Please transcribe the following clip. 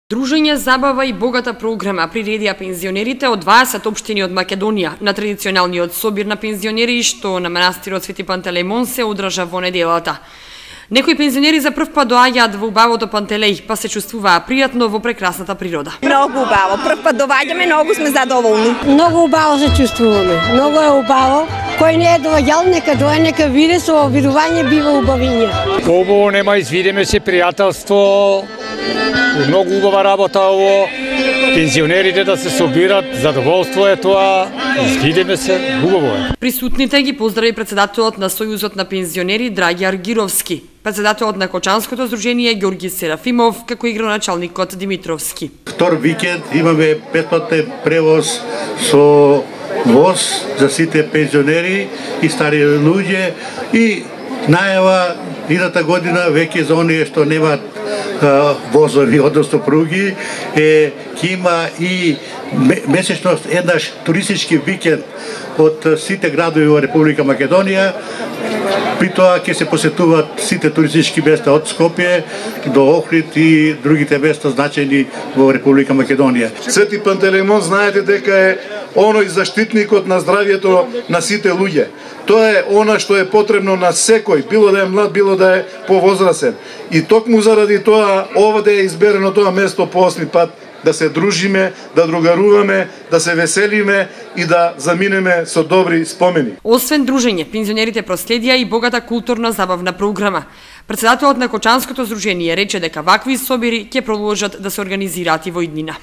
Дружење, забава и богата програма приредија пензионерите од 20 општини од Македонија на традиционалниот собир на пензионери што на манастирот Свети Пантелеимон се одржа во неделата. Некои пензионери за прв пат доаѓаат во убавото Пантелеј, па се чувствуваа пријатно во прекрасната природа. Многу убаво, прв пат доаѓаме, многу сме задоволни. Многу убаво се чувствуваме, многу е убаво. Кој не е доаѓал, нека доаѓа, нека види, со видување бива убавиње. Убаво нема, извидиме се пријателство. Многу убава работа ово, пензионерите да се собират, задоволство е тоа, видиме се, убаво е. Присутните ги поздрави председателот на Сојузот на пензионери Драѓар Гировски, председателот на Кочанското здружение Ѓорги Серафимов, како и градоначалникот Димитровски. Втор викенд имаме бесплатен превоз со воз за сите пензионери и стари луѓе и најава идната година веќе за оние што немаат возови, односно пруги, ќе има и месечно еднаш туристички викенд од сите градови во Република Македонија. При тоа ќе се посетуваат сите туристички места од Скопје до Охрид и другите места значајни во Република Македонија. Свети Пантелеимон знаете дека е оној заштитникот на здравјето на сите луѓе. Тоа е она што е потребно на секој, било да е млад, било да е повозрасен. И токму заради тоа овде е изберено тоа место по 8 пат да се дружиме, да другаруваме, да се веселиме и да заминеме со добри спомени. Освен дружење, пензионерите проследија и богата културна забавна програма. Председателот на Кочанското здружение рече дека вакви собири ќе продолжат да се организираат и во иднина.